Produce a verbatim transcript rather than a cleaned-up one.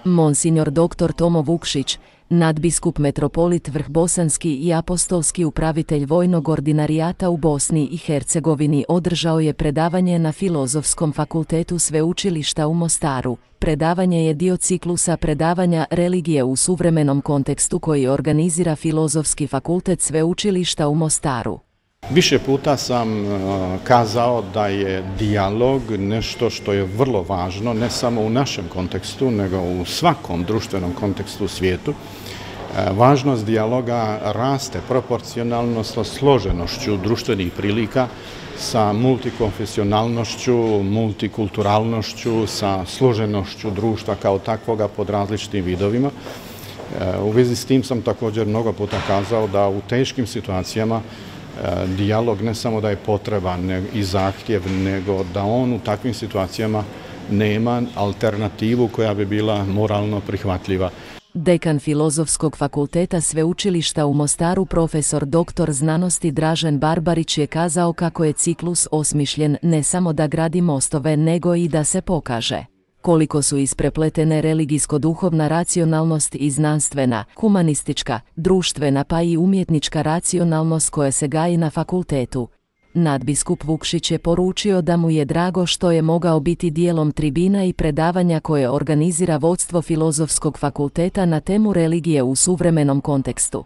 Monsignor doktor Tomo Vukšić, nadbiskup metropolit Vrhbosanski i apostolski upravitelj vojnog ordinarijata u Bosni i Hercegovini, održao je predavanje na Filozofskom fakultetu Sveučilišta u Mostaru. Predavanje je dio ciklusa predavanja Religije u suvremenom kontekstu koji organizira Filozofski fakultet Sveučilišta u Mostaru. Više puta sam kazao da je dijalog nešto što je vrlo važno, ne samo u našem kontekstu, nego u svakom društvenom kontekstu u svijetu. Važnost dijaloga raste proporcionalno sa složenošću društvenih prilika, sa multikonfesionalnošću, multikulturalnošću, sa složenošću društva kao takvoga pod različitim vidovima. U vezi s tim sam također mnogo puta kazao da u teškim situacijama dijalog ne samo da je potreban i zahtjev, nego da on u takvim situacijama nema alternativu koja bi bila moralno prihvatljiva. Dekan Filozofskog fakulteta Sveučilišta u Mostaru profesor doktor znanosti Dražen Barbarić je kazao kako je ciklus osmišljen ne samo da gradi mostove, nego i da se pokaže koliko su isprepletene religijsko-duhovna racionalnost i znanstvena, humanistička, društvena pa i umjetnička racionalnost koja se gaji na fakultetu. Nadbiskup Vukšić je poručio da mu je drago što je mogao biti dijelom tribina i predavanja koje organizira vodstvo Filozofskog fakulteta na temu religije u suvremenom kontekstu.